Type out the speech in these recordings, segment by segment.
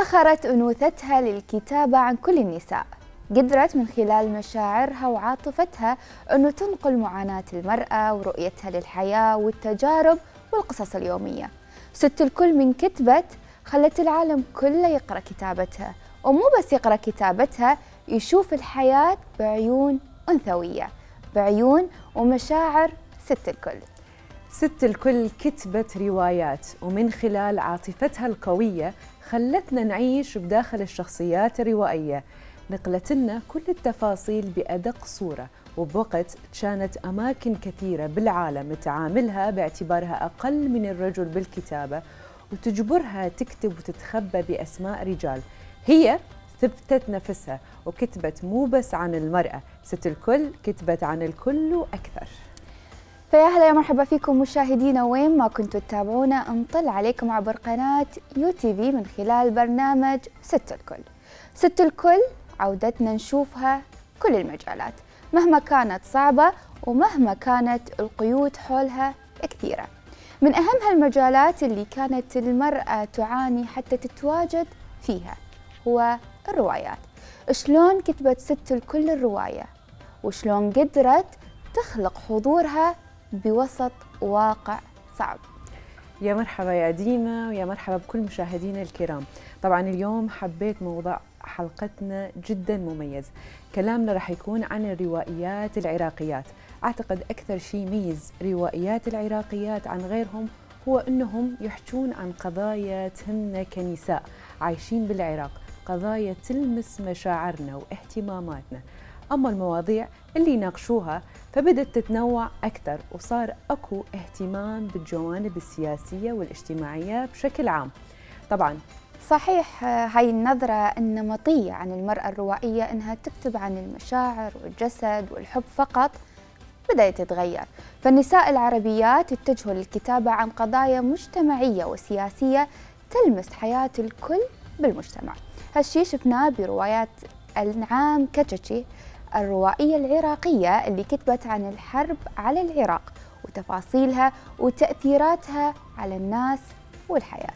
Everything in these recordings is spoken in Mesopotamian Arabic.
ادخرت أنوثتها للكتابة عن كل النساء. قدرت من خلال مشاعرها وعاطفتها أنه تنقل معاناة المرأة ورؤيتها للحياة والتجارب والقصص اليومية. ست الكل من كتبت خلت العالم كله يقرأ كتابتها، ومو بس يقرأ كتابتها، يشوف الحياة بعيون أنثوية، بعيون ومشاعر ست الكل. ست الكل كتبت روايات، ومن خلال عاطفتها القوية خلتنا نعيش بداخل الشخصيات الروائية، نقلت لنا كل التفاصيل بأدق صورة، وبوقت كانت أماكن كثيرة بالعالم تعاملها باعتبارها أقل من الرجل بالكتابة، وتجبرها تكتب وتتخبى بأسماء رجال. هي ثبتت نفسها وكتبت مو بس عن المرأة، ست الكل كتبت عن الكل وأكثر. فيا هلا يا مرحبا فيكم مشاهدينا وين ما كنتوا تتابعونا، نطل عليكم عبر قناة UTV من خلال برنامج ست الكل. ست الكل عودتنا نشوفها كل المجالات مهما كانت صعبة ومهما كانت القيود حولها كثيرة. من أهم هالمجالات اللي كانت المرأة تعاني حتى تتواجد فيها هو الروايات. شلون كتبت ست الكل الرواية، وشلون قدرت تخلق حضورها بوسط واقع صعب. يا مرحبا يا ديما، ويا مرحبا بكل مشاهدينا الكرام. طبعا اليوم حبيت موضوع حلقتنا جدا مميز. كلامنا راح يكون عن الروائيات العراقيات. أعتقد أكثر شيء يميز روائيات العراقيات عن غيرهم هو أنهم يحجون عن قضايا تهمنا كنساء عايشين بالعراق، قضايا تلمس مشاعرنا واهتماماتنا. أما المواضيع اللي يناقشوها فبدت تتنوع أكثر، وصار أكو اهتمام بالجوانب السياسية والاجتماعية بشكل عام. طبعاً صحيح هاي النظرة النمطية عن المرأة الروائية إنها تكتب عن المشاعر والجسد والحب فقط بدأت تتغير، فالنساء العربيات اتجهوا للكتابة عن قضايا مجتمعية وسياسية تلمس حياة الكل بالمجتمع. هالشي شفناه بروايات أنعام كتشي الروائية العراقية اللي كتبت عن الحرب على العراق وتفاصيلها وتأثيراتها على الناس والحياة.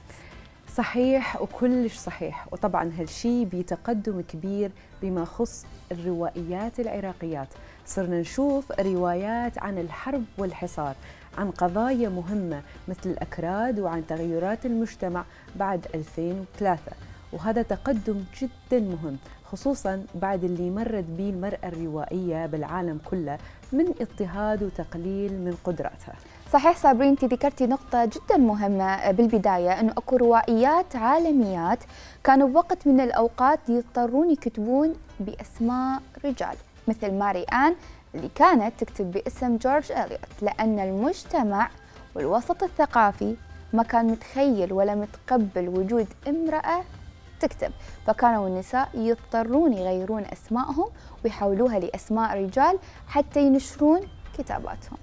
صحيح وكلش صحيح. وطبعا هالشي بتقدم كبير بما خص الروائيات العراقيات. صرنا نشوف روايات عن الحرب والحصار، عن قضايا مهمة مثل الأكراد وعن تغيرات المجتمع بعد 2003، وهذا تقدم جدا مهم خصوصا بعد اللي مرت به المرأة الروائية بالعالم كله من اضطهاد وتقليل من قدراتها. صحيح صابرين، انت ذكرتي نقطة جدا مهمة بالبداية، انه اكو روائيات عالميات كانوا بوقت من الاوقات يضطرون يكتبون باسماء رجال، مثل ماري آن اللي كانت تكتب باسم جورج إليوت، لان المجتمع والوسط الثقافي ما كان متخيل ولا متقبل وجود امرأة تكتب، فكانوا النساء يضطرون يغيرون اسمائهم ويحولوها لاسماء رجال حتى ينشرون كتاباتهم.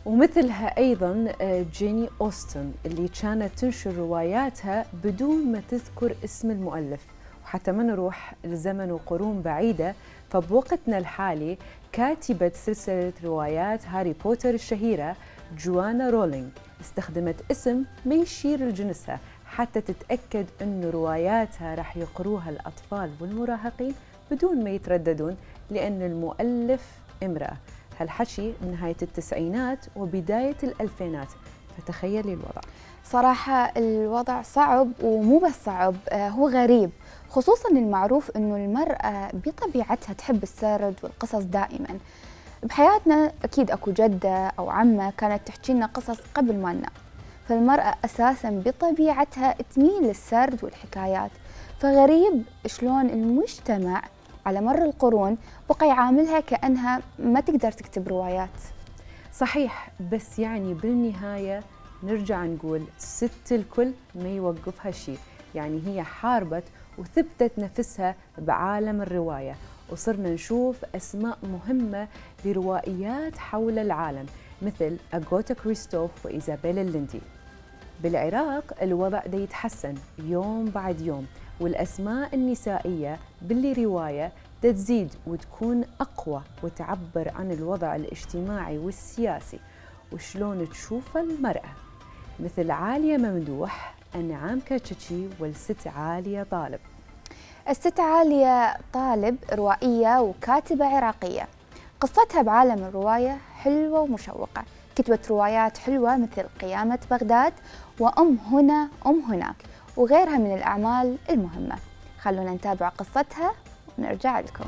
ومثلها أيضاً جيني أوستن اللي كانت تنشر رواياتها بدون ما تذكر اسم المؤلف. وحتى ما نروح لزمن وقرون بعيدة، فبوقتنا الحالي كاتبة سلسلة روايات هاري بوتر الشهيرة جوانا رولينج استخدمت اسم ما يشير لجنسها حتى تتأكد أن رواياتها راح يقروها الأطفال والمراهقين بدون ما يترددون، لأن المؤلف امرأة. هالحكي بنهاية التسعينات وبداية الألفينات، فتخيلي الوضع. صراحة الوضع صعب، ومو بس صعب، هو غريب، خصوصا المعروف انه المرأة بطبيعتها تحب السرد والقصص دائما. بحياتنا اكيد اكو جدة او عمة كانت تحكي لنا قصص قبل ما ننام، فالمرأة اساسا بطبيعتها تميل للسرد والحكايات، فغريب شلون المجتمع على مر القرون بقى يعاملها كأنها ما تقدر تكتب روايات. صحيح، بس يعني بالنهاية نرجع نقول ست الكل ما يوقفها شيء، يعني هي حاربت وثبتت نفسها بعالم الرواية، وصرنا نشوف أسماء مهمة لروائيات حول العالم مثل أغاثا كريستوف وإيزابيلا ليندي. بالعراق الوضع دا يتحسن يوم بعد يوم، والأسماء النسائية باللي رواية تزيد وتكون أقوى وتعبر عن الوضع الاجتماعي والسياسي وشلون تشوف المرأة، مثل عالية ممدوح أنعام كاتشتشي والست عالية طالب. الست عالية طالب روائية وكاتبة عراقية، قصتها بعالم الرواية حلوة ومشوقة، كتبت روايات حلوة مثل قيامة بغداد وأم هنا أم هناك وغيرها من الأعمال المهمة. خلونا نتابع قصتها ونرجع لكم.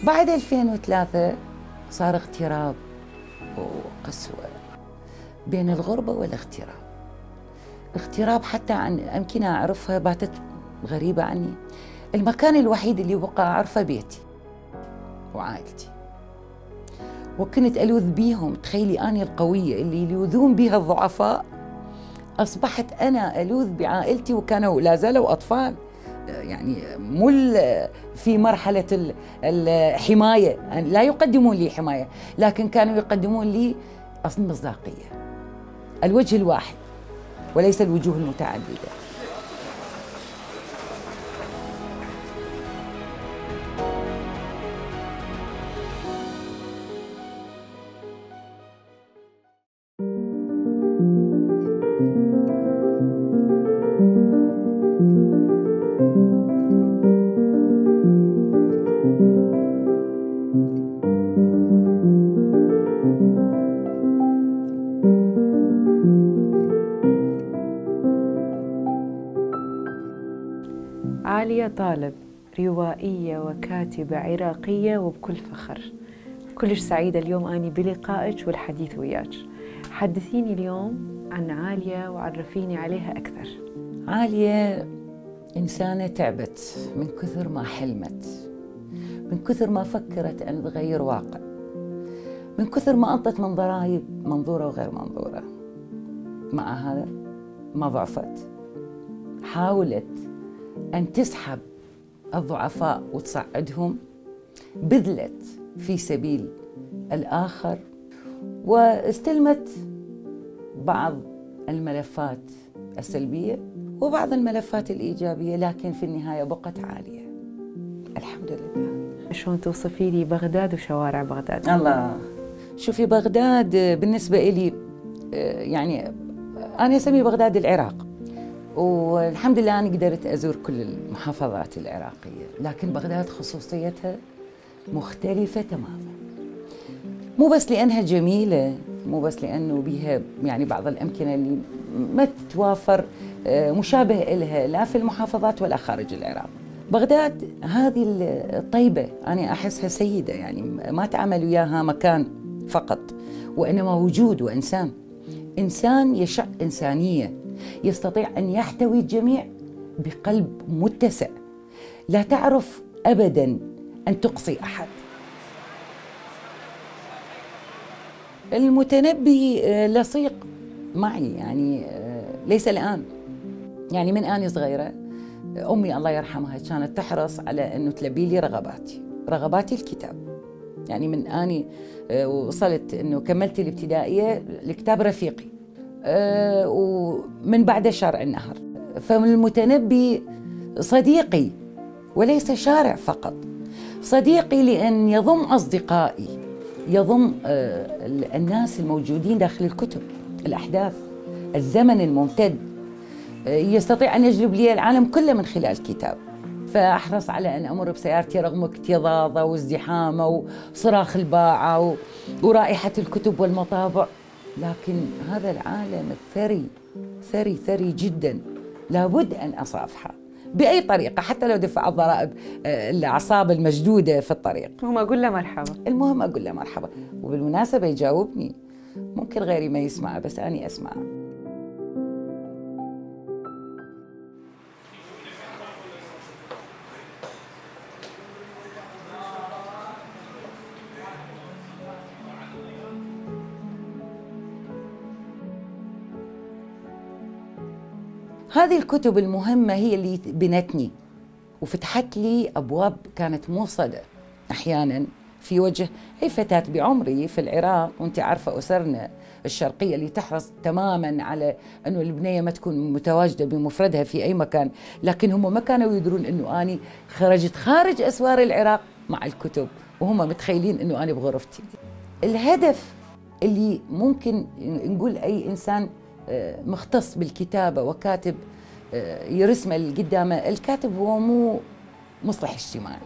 بعد 2003 صار اغتراب وقسوة بين الغربة والاغتراب. اغتراب حتى عن أمكنة أعرفها باتت غريبة عني. المكان الوحيد اللي بقى أعرفه بيتي وعائلتي، وكنت ألوذ بيهم. تخيلي أنا القوية اللي يلوذون بها الضعفاء، أصبحت أنا ألوذ بعائلتي وكانوا لا زالوا أطفال، يعني مو في مرحلة الحماية، لا يقدمون لي حماية، لكن كانوا يقدمون لي أصل مصداقية، الوجه الواحد وليس الوجوه المتعددة. عالية طالب روائية وكاتبة عراقية وبكل فخر. كلش سعيدة اليوم أني بلقائك والحديث وياك. حدثيني اليوم عن عالية وعرفيني عليها أكثر. عالية إنسانة تعبت من كثر ما حلمت، من كثر ما فكرت أن تغير واقع، من كثر ما أنطت من ضرائب منظورة وغير منظورة. مع هذا ما ضعفت، حاولت أن تسحب الضعفاء وتصعدهم، بذلت في سبيل الآخر، واستلمت بعض الملفات السلبية وبعض الملفات الإيجابية، لكن في النهاية بقت عالية الحمد لله. شلون توصفي لي بغداد وشوارع بغداد؟ الله، شوفي بغداد بالنسبة إلي يعني أنا أسمي بغداد العراق، والحمد لله أنا قدرت أزور كل المحافظات العراقية، لكن بغداد خصوصيتها مختلفة تماماً. مو بس لأنها جميلة، مو بس لأنه بيها يعني بعض الأمكنة اللي ما تتوافر مشابه إلها لا في المحافظات ولا خارج العراق. بغداد هذه الطيبة أنا أحسها سيدة، يعني ما تعمل وياها مكان فقط، وإنما وجود وإنسان، إنسان يشع إنسانية، يستطيع أن يحتوي الجميع بقلب متسع، لا تعرف أبداً أن تقصي أحد. المتنبي لصيق معي، يعني ليس الآن، يعني من أنا صغيرة أمي الله يرحمها كانت تحرص على أنه تلبي لي رغباتي الكتاب. يعني من أني وصلت أنه كملت الابتدائية الكتاب رفيقي، ومن بعد شارع النهر. فالمتنبي صديقي وليس شارع فقط، صديقي لأن يضم أصدقائي، يضم الناس الموجودين داخل الكتب، الأحداث، الزمن الممتد، يستطيع أن يجلب لي العالم كله من خلال الكتاب. فأحرص على أن أمر بسيارتي رغم اكتظاظه وازدحامه وصراخ الباعة ورائحة الكتب والمطابع، لكن هذا العالم الثري ثري ثري جدا، لابد أن أصافحه بأي طريقة، حتى لو دفع الضرائب الأعصاب المشدودة في الطريق. المهم أقول له مرحبا. المهم أقول له مرحبا، وبالمناسبة يجاوبني، ممكن غيري ما يسمعه بس أنا أسمعه. هذه الكتب المهمة هي اللي بنتني وفتحت لي أبواب كانت موصدة أحياناً في وجه أي فتاة بعمري في العراق. وانت عارفة أسرنا الشرقية اللي تحرص تماما على أنه البنية ما تكون متواجدة بمفردها في أي مكان، لكن هم ما كانوا يدرون أنه أنا خرجت خارج أسوار العراق مع الكتب، وهم متخيلين أنه أنا بغرفتي. الهدف اللي ممكن نقول أي إنسان مختص بالكتابة وكاتب يرسمه قدامه، الكاتب هو مو مصلح اجتماعي،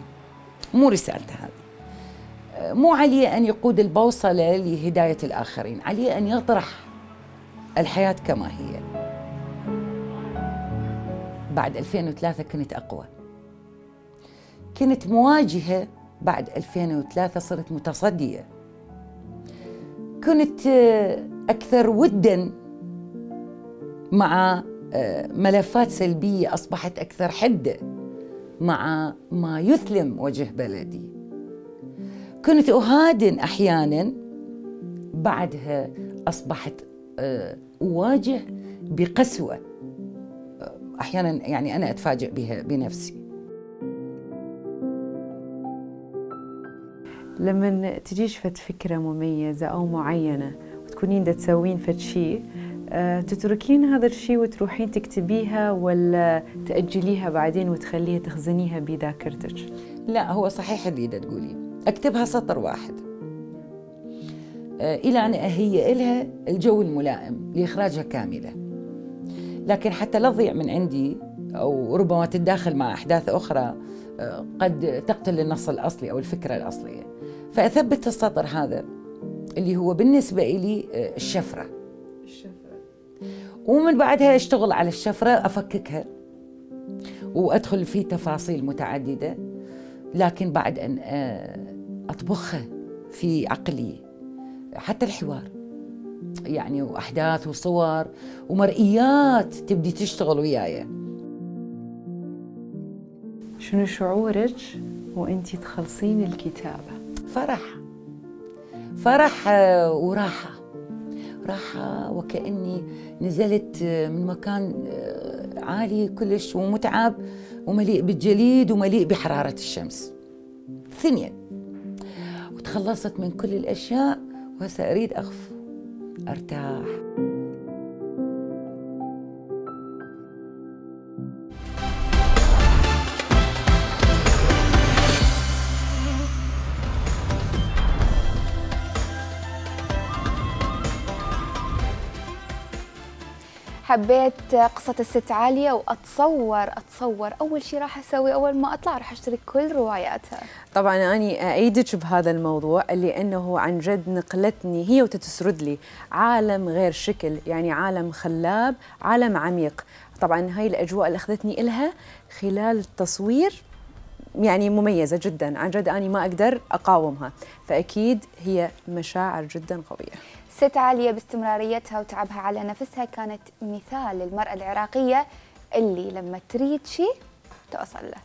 مو رسالته هذه، مو عليه أن يقود البوصلة لهداية الآخرين، عليه أن يطرح الحياة كما هي. بعد 2003 كنت أقوى، كنت مواجهة. بعد 2003 صرت متصدية، كنت أكثر وداً مع ملفات سلبية، أصبحت أكثر حدة مع ما يثلم وجه بلدي. كنت أهادن أحياناً، بعدها أصبحت أواجه بقسوة أحياناً، يعني أنا أتفاجئ بها بنفسي. لما تجيش فد فكرة مميزة أو معينة وتكونين دا تسوين فد شيء، تتركين هذا الشيء وتروحين تكتبيها ولا تأجليها بعدين وتخليها تخزنيها بذاكرتك؟ لا، هو صحيح اللي دا تقولي، أكتبها سطر واحد إلى أن أهيئ لها الجو الملائم لإخراجها كاملة، لكن حتى لا تضيع من عندي أو ربما تتداخل مع أحداث أخرى قد تقتل النص الأصلي أو الفكرة الأصلية، فأثبت السطر هذا اللي هو بالنسبة لي الشفرة، ومن بعدها أشتغل على الشفرة، أفككها وأدخل في تفاصيل متعددة، لكن بعد أن أطبخها في عقلي، حتى الحوار يعني، وأحداث وصور ومرئيات تبدي تشتغل وياي. شنو شعورك وأنتي تخلصين الكتابة؟ فرح وراحة، راحة وكأني نزلت من مكان عالي كلش ومتعب ومليء بالجليد ومليء بحرارة الشمس، ثنين، وتخلصت من كل الأشياء وهسه أريد أخف أرتاح. حبيت قصة الست عالية، وأتصور أول شيء راح أسوي أول ما أطلع راح أشتري كل رواياتها. طبعا أنا أيدك بهذا الموضوع، لأنه عن جد نقلتني هي وتتسرد لي عالم غير شكل، يعني عالم خلاب، عالم عميق. طبعا هاي الأجواء اللي أخذتني إلها خلال التصوير يعني مميزة جدا، عن جد أنا ما أقدر أقاومها، فأكيد هي مشاعر جدا قوية. ست عالية باستمراريتها وتعبها على نفسها كانت مثال للمرأة العراقية اللي لما تريد شيء توصل له.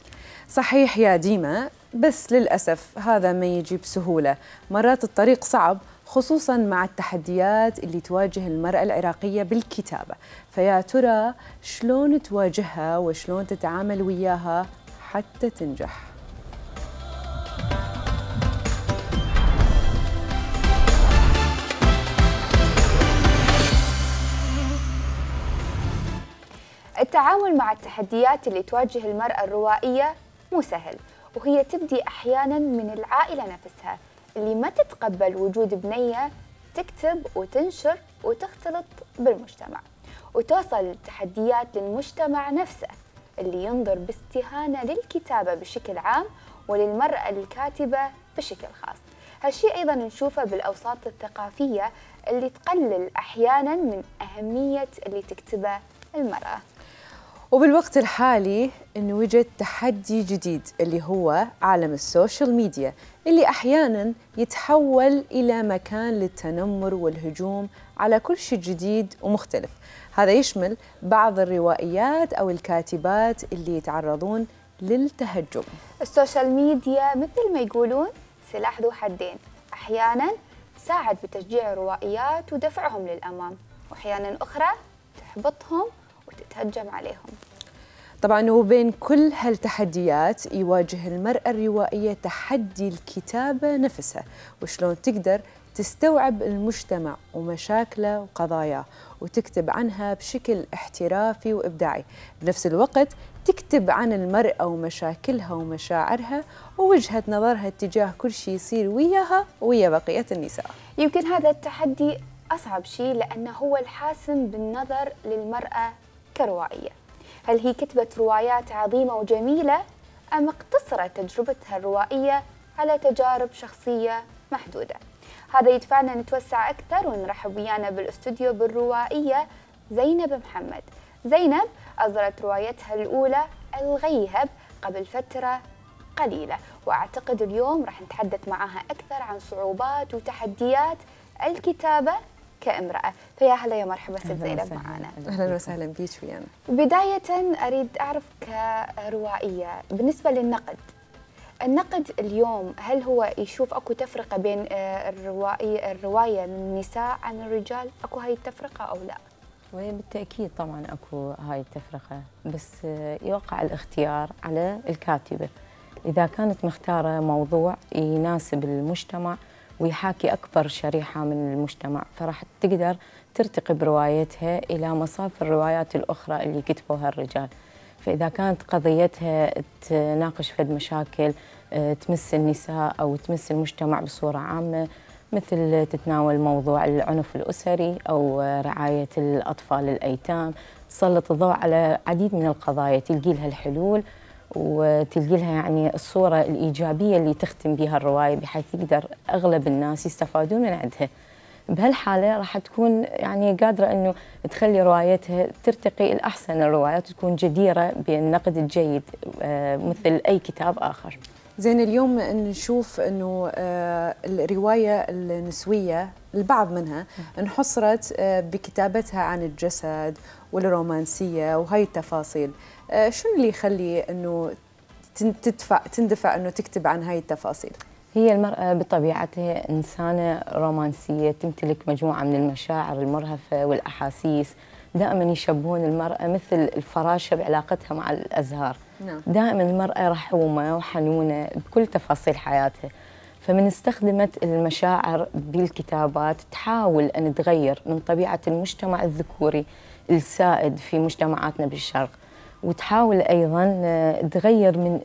صحيح يا ديما، بس للأسف هذا ما يجي بسهولة، مرات الطريق صعب، خصوصاً مع التحديات اللي تواجه المرأة العراقية بالكتابة. فيا ترى شلون تواجهها وشلون تتعامل وياها حتى تنجح؟ التعامل مع التحديات اللي تواجه المرأة الروائية مو سهل، وهي تبدي أحياناً من العائلة نفسها اللي ما تتقبل وجود بنية تكتب وتنشر وتختلط بالمجتمع، وتوصل التحديات للمجتمع نفسه اللي ينظر باستهانة للكتابة بشكل عام وللمرأة الكاتبة بشكل خاص. هالشيء أيضاً نشوفه بالأوساط الثقافية اللي تقلل أحياناً من أهمية اللي تكتبه المرأة. وبالوقت الحالي إنه وجد تحدي جديد اللي هو عالم السوشيال ميديا، اللي أحياناً يتحول إلى مكان للتنمر والهجوم على كل شيء جديد ومختلف. هذا يشمل بعض الروائيات أو الكاتبات اللي يتعرضون للتهجم. السوشيال ميديا مثل ما يقولون سلاح ذو حدين، أحياناً تساعد بتشجيع الروائيات ودفعهم للأمام، وأحياناً أخرى تحبطهم وتتهجم عليهم. طبعا وبين كل هالتحديات يواجه المرأة الروائية تحدي الكتابة نفسها، وشلون تقدر تستوعب المجتمع ومشاكله وقضاياه وتكتب عنها بشكل احترافي وإبداعي. بنفس الوقت تكتب عن المرأة ومشاكلها ومشاعرها ووجهة نظرها تجاه كل شيء يصير وياها ويا بقية النساء. يمكن هذا التحدي أصعب شيء لأنه هو الحاسم بالنظر للمرأة كروائية. هل هي كتبت روايات عظيمة وجميلة أم اقتصرت تجربتها الروائية على تجارب شخصية محدودة؟ هذا يدفعنا نتوسع أكثر ونرحب ويانا بالاستوديو بالروائية زينب محمد. زينب أصدرت روايتها الأولى الغيهب قبل فترة قليلة، وأعتقد اليوم راح نتحدث معها أكثر عن صعوبات وتحديات الكتابة كامرأة. فيا هلا يا مرحبا ست زينب معنا. أهلا وسهلا بيك ويانا. بداية أريد أعرف كروائية بالنسبة للنقد، النقد اليوم هل هو يشوف أكو تفرقة بين الرواية من النساء عن الرجال؟ أكو هاي التفرقة أو لا؟ بالتأكيد طبعا أكو هاي التفرقة، بس يوقع الاختيار على الكاتبة. إذا كانت مختارة موضوع يناسب المجتمع ويحاكي أكبر شريحة من المجتمع فراح تقدر ترتقي بروايتها إلى مصاف الروايات الأخرى اللي كتبوها الرجال. فإذا كانت قضيتها تناقش فد مشاكل تمس النساء أو تمس المجتمع بصورة عامة، مثل تتناول موضوع العنف الأسري أو رعاية الأطفال الأيتام، تسلط الضوء على عديد من القضايا، تلقي لها الحلول وتلقي لها يعني الصورة الإيجابية اللي تختم بها الرواية بحيث يقدر أغلب الناس يستفادون من عندها. بهالحالة راح تكون يعني قادرة أنه تخلي روايتها ترتقي الأحسن الروايات وتكون جديرة بالنقد الجيد مثل أي كتاب آخر. زين، اليوم نشوف أنه الرواية النسوية البعض منها انحصرت بكتابتها عن الجسد والرومانسية وهي التفاصيل. شو اللي يخلي أنه تندفع أنه تكتب عن هاي التفاصيل؟ هي المرأة بطبيعتها إنسانة رومانسية، تمتلك مجموعة من المشاعر المرهفة والأحاسيس. دائما يشبهون المرأة مثل الفراشة بعلاقتها مع الأزهار. دائما المرأة رحومة وحنونة بكل تفاصيل حياتها، فمن استخدمت المشاعر بالكتابات تحاول أن تغير من طبيعة المجتمع الذكوري السائد في مجتمعاتنا بالشرق، وتحاول أيضاً تغير من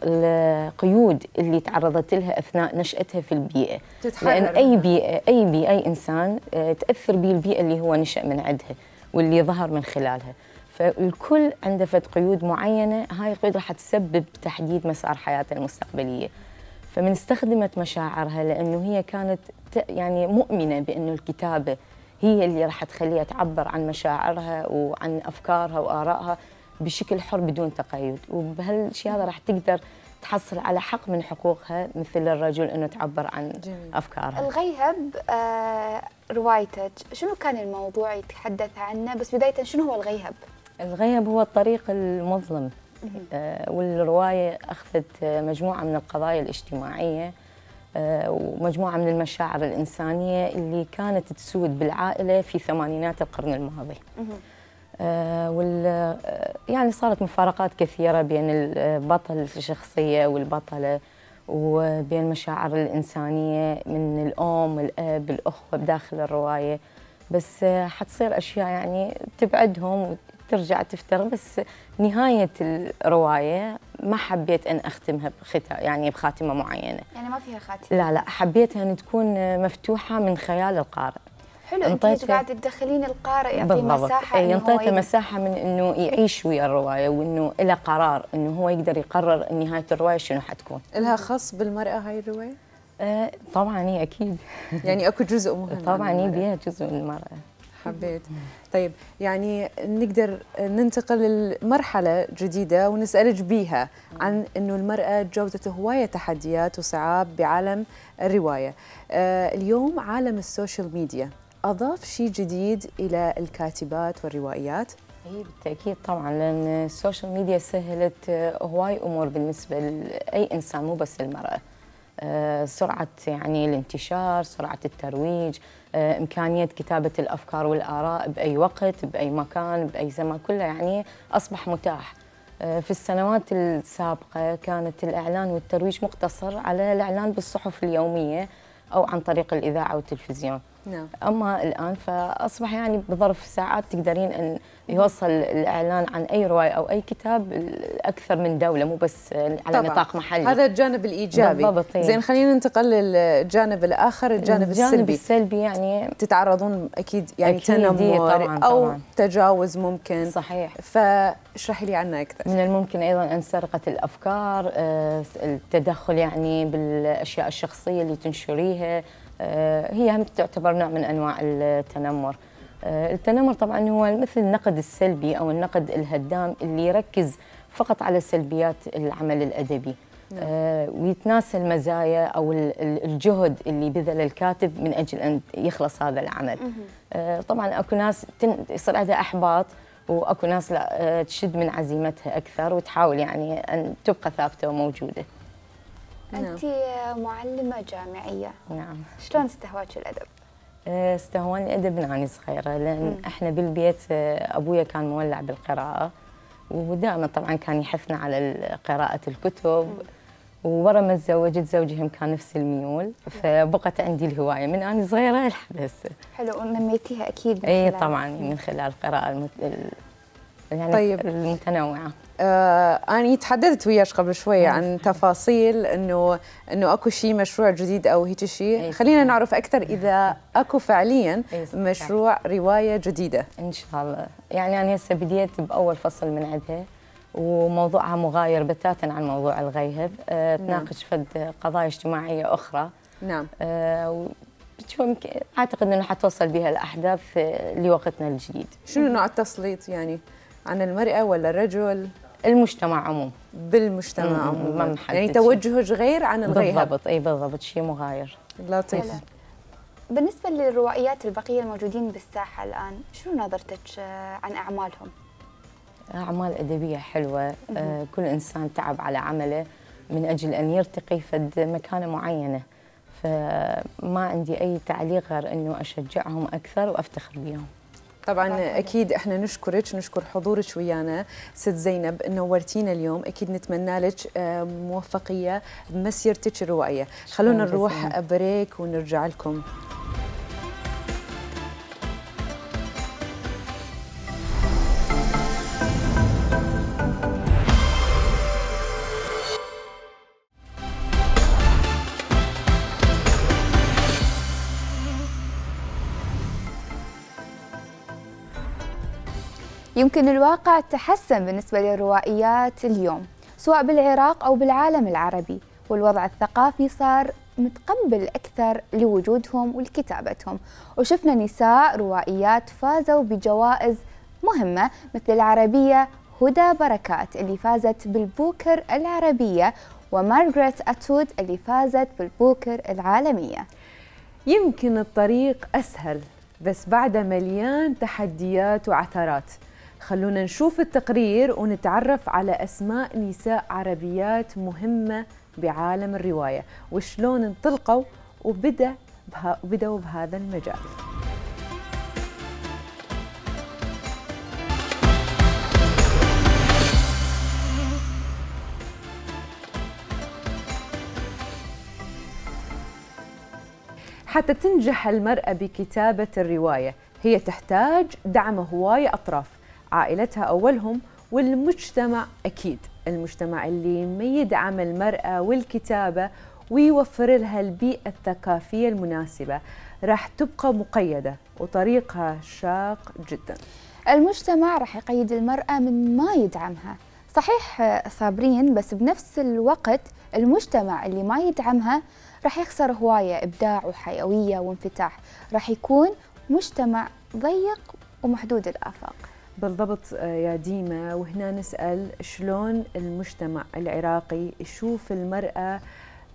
القيود اللي تعرضت لها أثناء نشأتها في البيئة. لأن أي بيئة أي إنسان تأثر به البيئة اللي هو نشأ من عندها واللي ظهر من خلالها، فالكل عنده فد قيود معينة، هاي القيود راح تسبب تحديد مسار حياتها المستقبلية. فمن استخدمت مشاعرها لأنه هي كانت يعني مؤمنة بأنه الكتابة هي اللي راح تخليها تعبر عن مشاعرها وعن أفكارها وآرائها بشكل حر بدون تقيد، وبهالشيء هذا راح تقدر تحصل على حق من حقوقها مثل الرجل انه تعبر عن افكارها. الغيهب روايتك شنو كان الموضوع يتحدث عنه؟ بس بداية شنو هو الغيهب؟ الغيهب هو الطريق المظلم، والرواية أخذت مجموعة من القضايا الاجتماعية ومجموعة من المشاعر الإنسانية اللي كانت تسود بالعائلة في ثمانينات القرن الماضي. يعني صارت مفارقات كثيرة بين البطل الشخصية والبطلة وبين المشاعر الإنسانية من الأم والأب الأخوة بداخل الرواية، بس حتصير أشياء يعني تبعدهم وترجع تفتر. بس نهاية الرواية ما حبيت أن أختمها يعني بخاتمة معينة، يعني ما فيها خاتمة. لا حبيتها أن تكون مفتوحة من خيال القارئ. حلو، انت قاعده تدخلين القارئ، يعطيه مساحه ينطيته مساحه من انه يعيش ويا الروايه وانه له قرار انه هو يقدر يقرر نهايه الروايه شنو حتكون. لها خص بالمراه هاي الروايه؟ طبعا هي اكيد يعني اكو جزء مهم طبعا هي بيها جزء من المراه. حبيت. طيب يعني نقدر ننتقل لمرحله جديده ونسالك بيها عن انه المراه تجاوزت هوايه تحديات وصعاب بعالم الروايه. اليوم عالم السوشيال ميديا أضاف شيء جديد إلى الكاتبات والروائيات؟ هي بالتأكيد طبعاً، لأن السوشيال ميديا سهلت هواي أمور بالنسبة لأي إنسان مو بس المرأة. سرعة يعني الانتشار، سرعة الترويج، إمكانية كتابة الأفكار والآراء بأي وقت بأي مكان بأي زمان، كله يعني أصبح متاح. في السنوات السابقة كانت الإعلان والترويج مقتصر على الإعلان بالصحف اليومية أو عن طريق الإذاعة والتلفزيون. نعم. أما الآن فأصبح يعني بظرف ساعات تقدرين أن يوصل الإعلان عن أي رواية أو أي كتاب أكثر من دولة، مو بس على طبعاً. نطاق محلي. هذا الجانب الإيجابي. بالضبط. زين، خلينا ننتقل للجانب الآخر، الجانب السلبي يعني تتعرضون أكيد يعني أكيد تنمر طبعاً أو طبعاً. تجاوز ممكن. صحيح. فاشرحي لي عنه أكثر. من الممكن أيضاً أن سرقة الأفكار، التدخل يعني بالأشياء الشخصية اللي تنشريها، هي هم تعتبر نوع من أنواع التنمر. التنمر طبعاً هو مثل النقد السلبي أو النقد الهدام اللي يركز فقط على سلبيات العمل الأدبي، ويتناسى المزايا أو الجهد اللي بذل الكاتب من أجل أن يخلص هذا العمل. طبعاً أكو ناس يصير عندها إحباط، واكو ناس لا تشد من عزيمتها اكثر وتحاول يعني ان تبقى ثابته وموجوده. انت معلمه جامعيه. نعم. شلون استهواك الادب؟ استهواني الادب من اني صغيره، لان احنا بالبيت ابويا كان مولع بالقراءه، ودائما طبعا كان يحثنا على قراءه الكتب. وورا ما تزوجت زوجي هم كان نفس الميول، فبقت عندي الهوايه من اني صغيره لحد هسه. حلو، ونميتيها اكيد من اي خلال طبعا من خلال القراءه يعني طيب. المتنوعه. أنا تحدثت وياك قبل شوية عن تفاصيل إنه أكو شيء مشروع جديد أو هيك شيء. خلينا نعرف أكثر إذا أكو فعليا مشروع رواية جديدة. إن شاء الله. يعني أنا هسه بديت بأول فصل من عندها، وموضوعها مغاير بتاتا عن موضوع الغيهب. تناقش فد قضايا اجتماعية أخرى. نعم. أعتقد أنه حتوصل بها الأحداث لوقتنا الجديد. شنو نوع التسليط يعني؟ عن المرأة ولا الرجل؟ المجتمع عموم. بالمجتمع عموما. يعني توجهك غير عن الغيهب. بالضبط. اي بالضبط، شيء مغاير. لطيف. بالنسبة للروائيات البقية الموجودين بالساحة الآن، شنو نظرتك عن أعمالهم؟ أعمال أدبية حلوة. كل إنسان تعب على عمله من أجل أن يرتقي في مكانة معينة، فما عندي أي تعليق غير أنه أشجعهم أكثر وأفتخر بهم. طبعا اكيد احنا نشكرك، نشكر حضورك ويانا ست زينب، نورتينا اليوم. اكيد نتمنى لك موفقيه بمسيرتك الروائيه. خلونا نروح بريك ونرجع لكم. يمكن الواقع تحسن بالنسبة للروائيات اليوم سواء بالعراق أو بالعالم العربي، والوضع الثقافي صار متقبل أكثر لوجودهم ولكتابتهم، وشفنا نساء روائيات فازوا بجوائز مهمة مثل العربية هدى بركات اللي فازت بالبوكر العربية، ومارغريت أتود اللي فازت بالبوكر العالمية. يمكن الطريق أسهل بس بعده مليان تحديات وعثرات. خلونا نشوف التقرير ونتعرف على أسماء نساء عربيات مهمة بعالم الرواية وشلون انطلقوا وبدأوا بهذا المجال. حتى تنجح المرأة بكتابة الرواية هي تحتاج دعم هواية أطراف، عائلتها أولهم والمجتمع أكيد، المجتمع اللي ما يدعم المرأة والكتابة ويوفر لها البيئة الثقافية المناسبة راح تبقى مقيدة وطريقها شاق جدا. المجتمع راح يقيد المرأة من ما يدعمها، صحيح صابرين، بس بنفس الوقت المجتمع اللي ما يدعمها راح يخسر هواية إبداع وحيوية وانفتاح، راح يكون مجتمع ضيق ومحدود الآفاق. بالضبط يا ديما، وهنا نسأل شلون المجتمع العراقي يشوف المرأة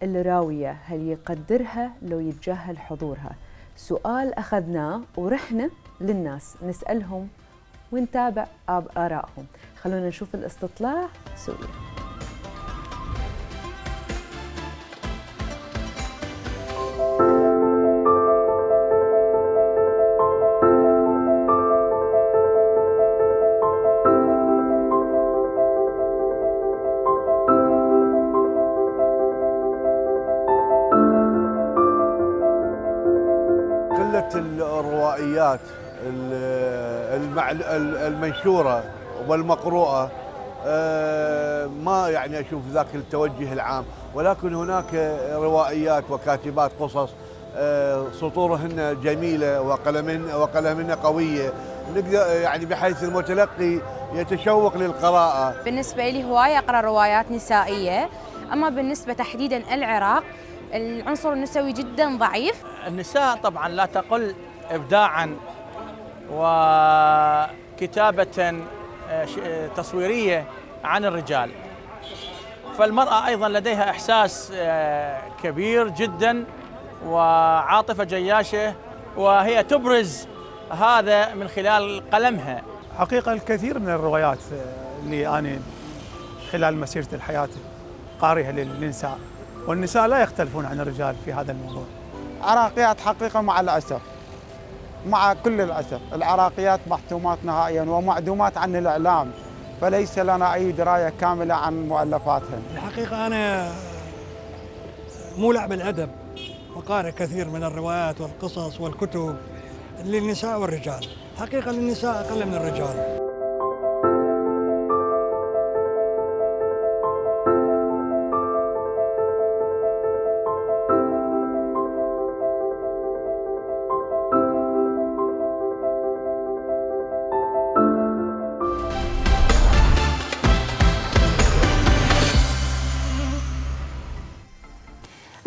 الراوية، هل يقدرها لو يتجاهل حضورها؟ سؤال أخذناه ورحنا للناس نسألهم ونتابع آرائهم. خلونا نشوف الاستطلاع سويا. قلة الروائيات المنشورة والمقروءة ما يعني أشوف ذاك التوجه العام، ولكن هناك روائيات وكاتبات قصص سطورهن جميلة وقلمهن قوية، يعني بحيث المتلقي يتشوق للقراءة. بالنسبة لي هواية أقرأ روايات نسائية، أما بالنسبة تحديداً العراق العنصر النسوي جداً ضعيف. النساء طبعاً لا تقل إبداعاً وكتابة تصويرية عن الرجال، فالمرأة أيضاً لديها إحساس كبير جداً وعاطفة جياشة، وهي تبرز هذا من خلال قلمها. حقيقة الكثير من الروايات اللي أنا خلال مسيرة الحياة قارئها للنساء، والنساء لا يختلفون عن الرجال في هذا الموضوع. عراقيات حقيقة مع الأسف، مع كل الأسف العراقيات محتومات نهائيا ومعدومات عن الإعلام، فليس لنا أي دراية كاملة عن مؤلفاتهم. الحقيقة أنا مولع بالأدب وقارئ كثير من الروايات والقصص والكتب للنساء والرجال. حقيقة للنساء أقل من الرجال.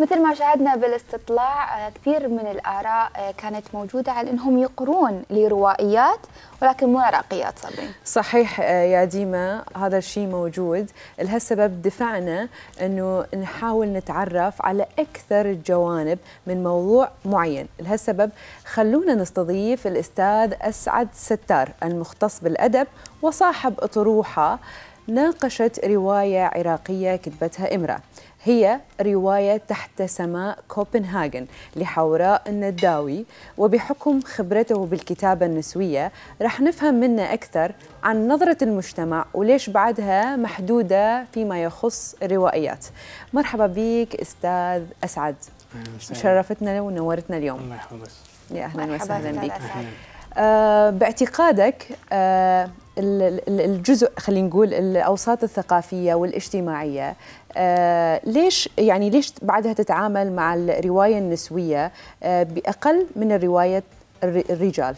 مثل ما شاهدنا بالاستطلاع كثير من الآراء كانت موجودة على أنهم يقرون لروائيات ولكن مو عراقيات صبرين. صحيح يا ديما، هذا الشيء موجود. لهالسبب دفعنا أنه نحاول نتعرف على أكثر الجوانب من موضوع معين. لهالسبب خلونا نستضيف الأستاذ أسعد ستار المختص بالأدب وصاحب أطروحة ناقشت رواية عراقية كتبتها امرأة، هي رواية تحت سماء كوبنهاغن لحوراء النداوي. وبحكم خبرته بالكتابة النسوية رح نفهم منه أكثر عن نظرة المجتمع وليش بعدها محدودة فيما يخص الروائيات. مرحبا بك أستاذ أسعد، شرفتنا ونورتنا اليوم. الله يحفظك. يا أهلا وسهلا بك. باعتقادك الجزء، خلينا نقول الأوساط الثقافية والاجتماعية، ليش بعدها تتعامل مع الرواية النسوية بأقل من الرواية الرجال؟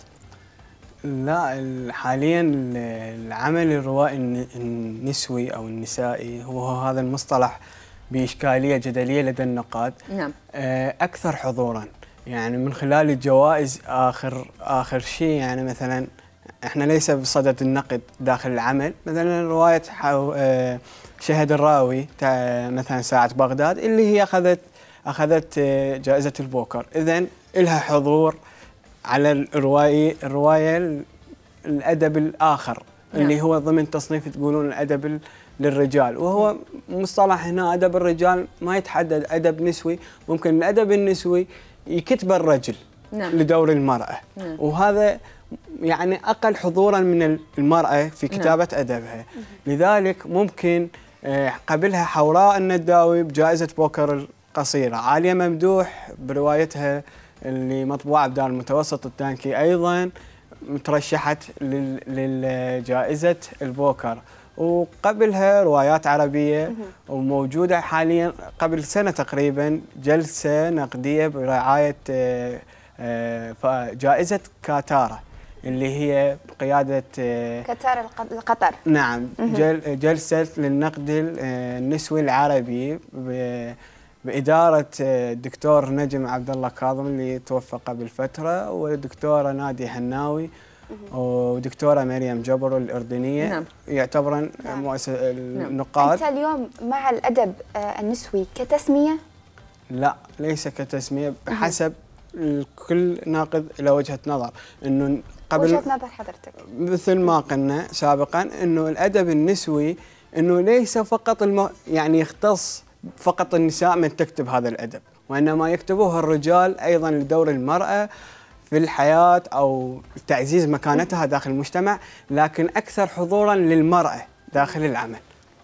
لا، حاليا العمل الروائي النسوي أو النسائي هو هذا المصطلح بإشكالية جدلية لدى النقاد. نعم. أكثر حضورا، يعني من خلال الجوائز آخر شيء. يعني مثلا احنا ليس بصدد النقد داخل العمل، مثلا رواية شهد الراوي مثلا ساعة بغداد اللي هي أخذت جائزة البوكر، إذن لها حضور على الرواية الأدب الآخر اللي هو ضمن تصنيف تقولون الأدب للرجال، وهو مصطلح هنا أدب الرجال ما يتحدد أدب نسوي. ممكن الأدب النسوي يكتب الرجل لدور المرأة، وهذا يعني أقل حضوراً من المرأة في كتابة أدبها. لذلك ممكن قبلها حوراء النداوي بجائزة بوكر القصيرة، عالية ممدوح بروايتها اللي مطبوعة بدار المتوسط التانكي أيضاً مترشحت للجائزة البوكر، وقبلها روايات عربية. وموجودة حالياً قبل سنة تقريباً جلسة نقدية برعاية جائزة كاتارا اللي هي بقيادة كاتارا القطر. نعم. جلسة للنقد النسوي العربي بإدارة الدكتور نجم عبد الله كاظم اللي توفى قبل فترة، والدكتورة نادي حناوي ودكتورة مريم جبر الأردنية. نعم. يعتبرن مؤسسة النقاد. أنت اليوم مع الأدب النسوي كتسمية؟ لا، ليس كتسمية، بحسب كل ناقد له وجهة نظر. إنه قبل وجهة نظر حضرتك مثل ما قلنا سابقا إنه الأدب النسوي إنه ليس فقط يعني يختص فقط النساء من تكتب هذا الأدب، وإنما يكتبوه الرجال أيضا لدور المرأة في الحياة أو تعزيز مكانتها داخل المجتمع، لكن أكثر حضورا للمرأة داخل العمل.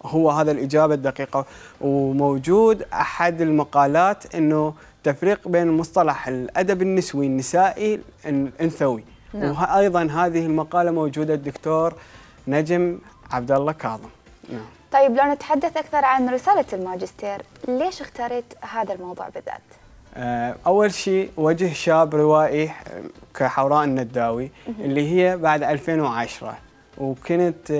هو هذا الإجابة الدقيقة. وموجود أحد المقالات إنه التفريق بين مصطلح الأدب النسوي النسائي الأنثوي. وأيضا هذه المقالة موجودة الدكتور نجم عبد الله كاظم. نعم. طيب لو نتحدث أكثر عن رسالة الماجستير، ليش اختاريت هذا الموضوع بالذات؟ أول شيء وجه شاب روائي كحوراء النداوي اللي هي بعد 2010، وكنت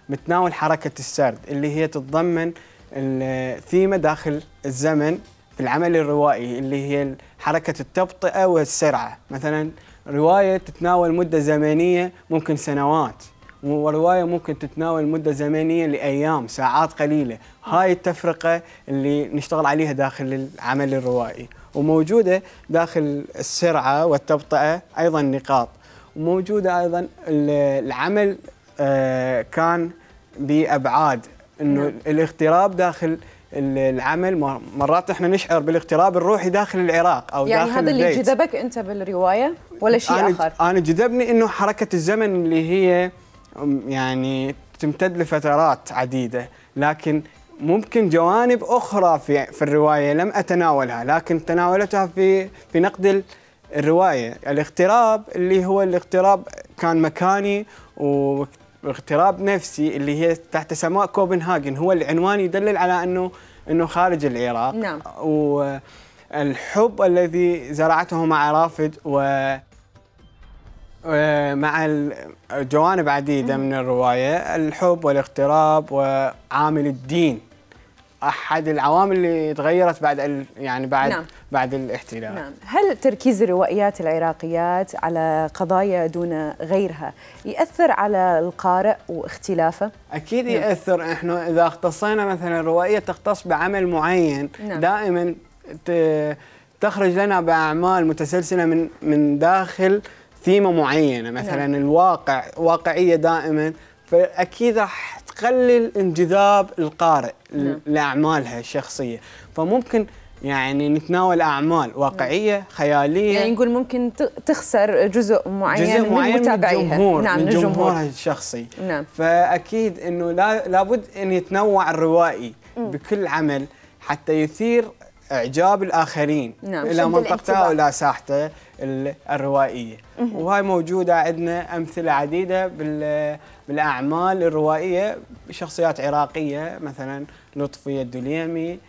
متناول حركة السرد اللي هي تتضمن الثيمة داخل الزمن في العمل الروائي اللي هي حركة التبطئة والسرعة. مثلا رواية تتناول مدة زمنية ممكن سنوات، ورواية ممكن تتناول مدة زمنية لأيام ساعات قليلة. هاي التفرقة اللي نشتغل عليها داخل العمل الروائي، وموجودة داخل السرعة والتبطئة أيضا نقاط. وموجودة أيضا العمل كان بأبعاد إنه الاغتراب داخل العمل. مرات احنا نشعر بالاغتراب الروحي داخل العراق او يعني داخل هذا اللي البيت. جذبك انت بالروايه ولا شيء اخر؟ انا جذبني انه حركه الزمن اللي هي يعني تمتد لفترات عديده، لكن ممكن جوانب اخرى في الروايه لم اتناولها، لكن تناولتها في نقد الروايه. الاغتراب اللي هو الاغتراب كان مكاني واغتراب نفسي اللي هي تحت سماء كوبنهاجن، هو العنوان يدلل على انه خارج العراق. نعم. والحب الذي زرعته مع رافد ومع جوانب عديدة من الرواية، الحب والاغتراب وعامل الدين أحد العوامل اللي تغيرت بعد نعم. بعد الاحتلال. نعم. هل تركيز الروائيات العراقيات على قضايا دون غيرها يأثر على القارئ واختلافه؟ أكيد يأثر. إحنا إذا اختصينا مثلا روائية تختص بعمل معين، نعم. دائما تخرج لنا بأعمال متسلسلة من داخل ثيمة معينة، مثلا نعم. واقعية دائما، فأكيد راح تقلل انجذاب القارئ نعم. لأعمالها الشخصية. فممكن يعني نتناول أعمال واقعية خيالية، يعني نقول ممكن تخسر جزء معين من متابعيها، نعم، من جمهورها الشخصي. نعم. فأكيد أنه لابد أن يتنوع الروائي بكل عمل حتى يثير إعجاب الآخرين نعم. إلى منطقته وإلى ساحته الروائية. وهاي موجودة عندنا أمثلة عديدة بالأعمال الروائية بشخصيات عراقية، مثلا لطفية الدليمي،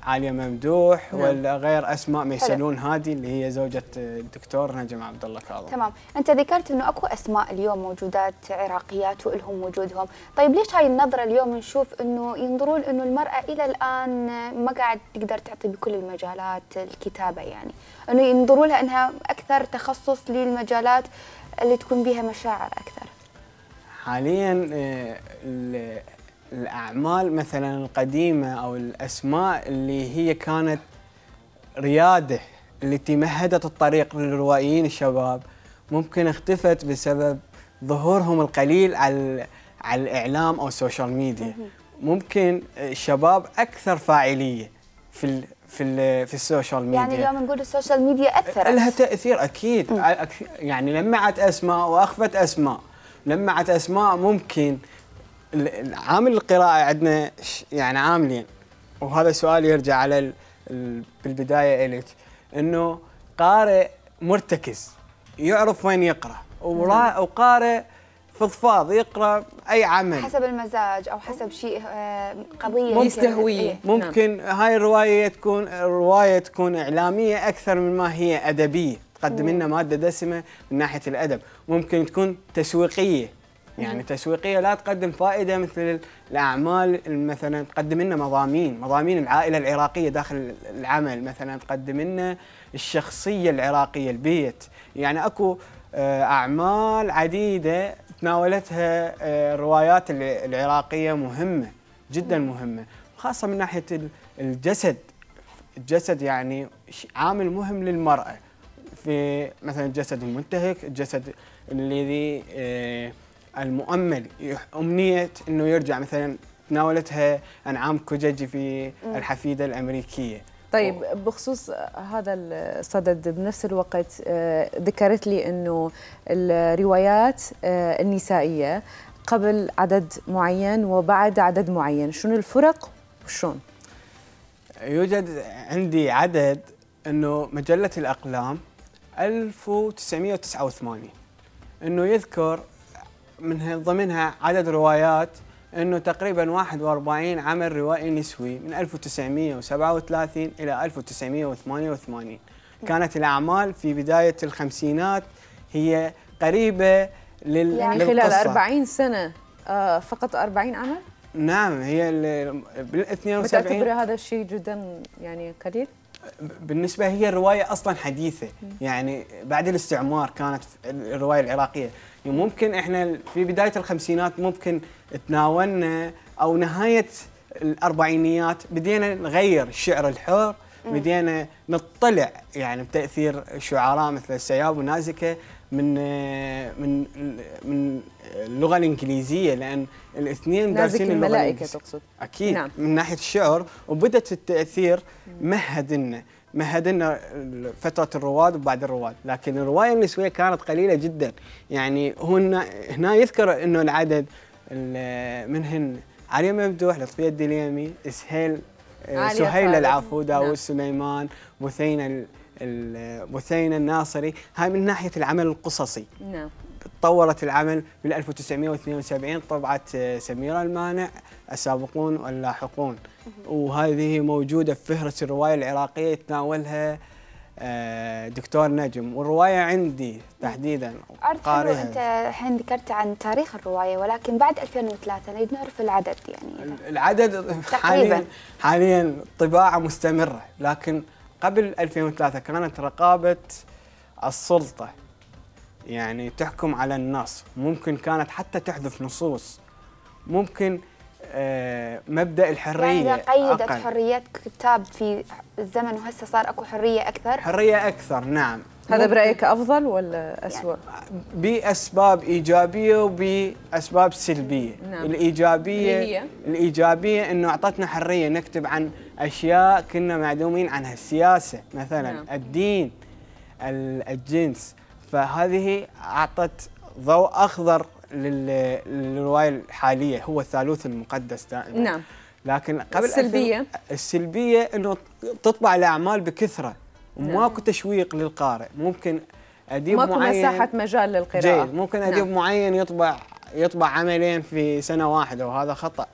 عالية ممدوح، نعم. والغير أسماء ميسلون هادي اللي هي زوجة الدكتور نجم عبد الله كاظم. تمام. أنت ذكرت إنه أكو أسماء اليوم موجودات عراقيات وإلهم وجودهم، طيب ليش هاي النظرة اليوم نشوف إنه ينظرون إنه المرأة إلى الآن ما قاعد تقدر تعطي بكل المجالات الكتابة، يعني إنه ينظروا لها إنها أكثر تخصص للمجالات اللي تكون بها مشاعر أكثر؟ حاليا الأعمال مثلا القديمة أو الأسماء اللي هي كانت ريادة التي مهدت الطريق للروائيين الشباب ممكن اختفت بسبب ظهورهم القليل على الإعلام أو السوشيال ميديا. ممكن الشباب أكثر فاعلية في السوشيال ميديا. يعني اليوم نقول السوشيال ميديا أثرت، لها تأثير أكيد. يعني لمعت أسماء وأخفت أسماء. لمعت أسماء ممكن عامل القراءة عندنا يعني عاملين، وهذا سؤال يرجع على بالبداية إليك، إنه قارئ مرتكز يعرف وين يقرأ، وقارئ فضفاض يقرأ أي عمل حسب المزاج أو حسب شيء قضية يستهويه. ممكن هاي الرواية تكون إعلامية أكثر من ما هي أدبية، تقدم لنا مادة دسمة من ناحية الأدب. ممكن تكون تسويقية، يعني تسويقية لا تقدم فائدة مثل الأعمال مثلا تقدم لنا مضامين العائلة العراقية داخل العمل، مثلا تقدم لنا الشخصية العراقية، البيت. يعني أكو أعمال عديدة تناولتها الروايات العراقية مهمة جدا، مهمة، خاصة من ناحية الجسد يعني عامل مهم للمرأة، في مثلا الجسد المنتهك، الجسد الذي المؤمل، أمنية أنه يرجع. مثلا تناولتها أنعام كوججي في الحفيدة الأمريكية. طيب بخصوص هذا الصدد بنفس الوقت ذكرت لي أنه الروايات النسائية قبل عدد معين وبعد عدد معين، شنو الفرق وشون؟ يوجد عندي عدد انه مجله الاقلام 1989 انه يذكر من ضمنها عدد روايات انه تقريبا 41 عمل روائي نسوي من 1937 الى 1988. كانت الاعمال في بدايه الخمسينات هي قريبه يعني خلال 40 سنه فقط 40 عمل؟ نعم، هي بال 72. تعتبر هذا الشيء جدا يعني قليل؟ بالنسبه هي الروايه اصلا حديثه، يعني بعد الاستعمار كانت الروايه العراقيه، يعني ممكن احنا في بدايه الخمسينات ممكن تناولنا او نهايه الاربعينيات بدينا نغير الشعر الحر، بدينا نطلع يعني بتاثير شعراء مثل السياب ونازكه من اللغه الانجليزيه، لان الاثنين دارسين اللغه الملائكه تقصد؟ اكيد. نعم. من ناحيه الشعر، وبدت التاثير مهدنا فتره الرواد وبعد الرواد، لكن الروايه النسويه كانت قليله جدا. يعني هنا يذكر انه العدد منهن علي ممدوح، لطفيه الدليمي، سهيل العفو، داوود سليمان، بثينة الناصري. هاي من ناحيه العمل القصصي. نعم. تطورت العمل بال 1972 طبعت سميرة المانع السابقون واللاحقون، وهذه موجوده في فهرس الروايه العراقيه يتناولها دكتور نجم، والروايه عندي تحديدا قارئها. انت الحين ذكرت عن تاريخ الروايه، ولكن بعد 2003 نريد نعرف العدد. يعني العدد حاليا طباعه مستمره، لكن قبل 2003 كانت رقابه السلطه يعني تحكم على النص، ممكن كانت حتى تحذف نصوص، ممكن مبدأ الحرية يعني قيدت أقل. حريات كتاب في الزمن، وهسه صار اكو حرية أكثر. حرية أكثر، نعم. هذا برأيك أفضل ولا أسوأ؟ يعني بأسباب إيجابية وبأسباب سلبية. نعم. الإيجابية إنه أعطتنا حرية نكتب عن أشياء كنا معدومين عنها، السياسة مثلا. نعم. الدين، الجنس، فهذه أعطت ضوء أخضر للرواية الحالية، هو الثالوث المقدس دائما. نعم. لكن قبل السلبية إنه تطبع الأعمال بكثرة وماكو تشويق للقارئ. ممكن أديب ماكو معين، مساحة مجال للقراءة. جيد. ممكن أديب معين يطبع عملين في سنة واحدة، وهذا خطأ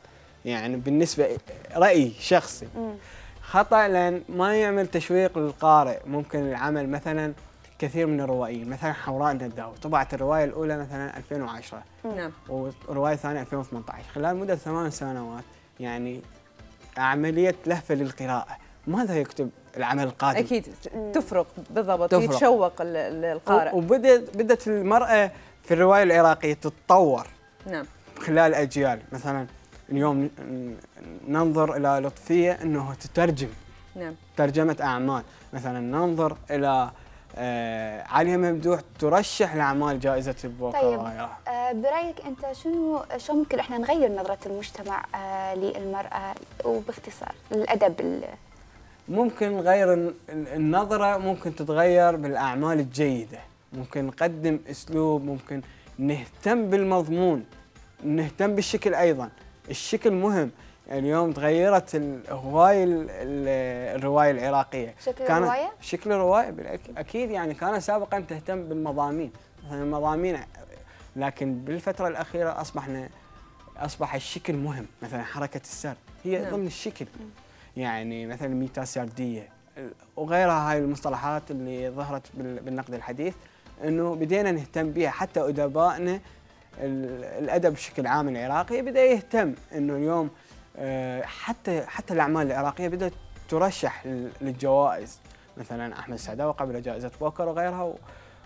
يعني بالنسبة رأيي شخصي. خطأ لأن ما يعمل تشويق للقارئ. ممكن العمل مثلا كثير من الروائيين، مثلا حوراء النداوي طبعت الرواية الأولى مثلا 2010. نعم. والرواية الثانية 2018، خلال مدة 8 سنوات يعني عملية لهفة للقراءة. ماذا يكتب العمل القادم؟ أكيد تفرق بالضبط، يتشوق القارئ. وبدت المرأة في الرواية العراقية تتطور. نعم. خلال أجيال، مثلا اليوم ننظر إلى لطفية أنه تترجم. نعم. ترجمة أعمال، مثلا ننظر إلى علي ممدوح ترشح لأعمال جائزة البوكر. طيب برأيك أنت شو ممكن إحنا نغير نظرة المجتمع للمرأة، وباختصار للأدب؟ ممكن نغير النظرة، ممكن تتغير بالأعمال الجيدة، ممكن نقدم أسلوب، ممكن نهتم بالمضمون، نهتم بالشكل أيضا. الشكل مهم. اليوم تغيرت هواي الرواية العراقية. شكل الرواية؟ شكل الرواية أكيد. يعني كان سابقا تهتم بالمضامين، مثلا المضامين، لكن بالفترة الأخيرة أصبح الشكل مهم. مثلا حركة السرد هي ضمن الشكل. يعني مثلا ميتا سردية وغيرها، هاي المصطلحات اللي ظهرت بالنقد الحديث، إنه بدينا نهتم بها. حتى أدبائنا الأدب بشكل عام العراقي بدأ يهتم إنه اليوم حتى الأعمال العراقية بدأت ترشح للجوائز، مثلا أحمد السعداوي قبل جائزة بوكر وغيرها،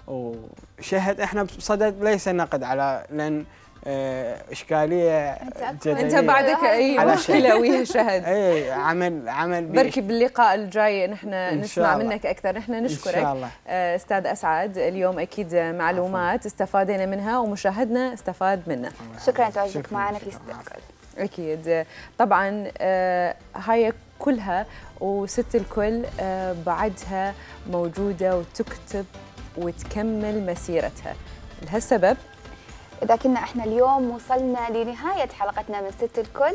وشهد احنا بصدد ليس نقد على لأن إشكالية جدلية. أنت بعدك أي مشكلة ويا شهد. أي عمل بركي باللقاء الجاي نحن نسمع منك أكثر. نحن نشكرك إن شاء الله. أستاذ أسعد، اليوم أكيد معلومات استفادنا منها ومشاهدنا استفاد منها. شكرا لتواجدك معنا في ست الكل. أكيد طبعا هاي كلها وست الكل بعدها موجودة وتكتب وتكمل مسيرتها. لهالسبب إذا كنا إحنا اليوم وصلنا لنهاية حلقتنا من ست الكل،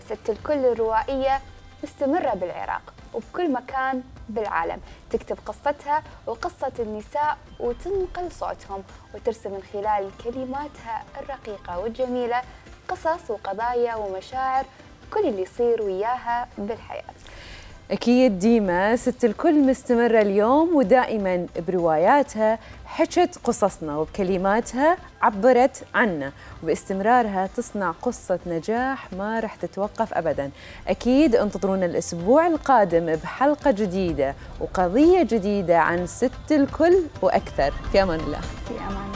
ست الكل الروائية مستمرة بالعراق. وبكل مكان بالعالم، تكتب قصتها وقصة النساء وتنقل صوتهم وترسم من خلال كلماتها الرقيقة والجميلة قصص وقضايا ومشاعر كل اللي يصير وياها بالحياة. أكيد ديما ست الكل مستمرة اليوم ودائما برواياتها حكت قصصنا وبكلماتها عبرت عنا، وباستمرارها تصنع قصة نجاح ما رح تتوقف أبدا. أكيد انتظرونا الأسبوع القادم بحلقة جديدة وقضية جديدة عن ست الكل وأكثر. في أمان الله. في أمان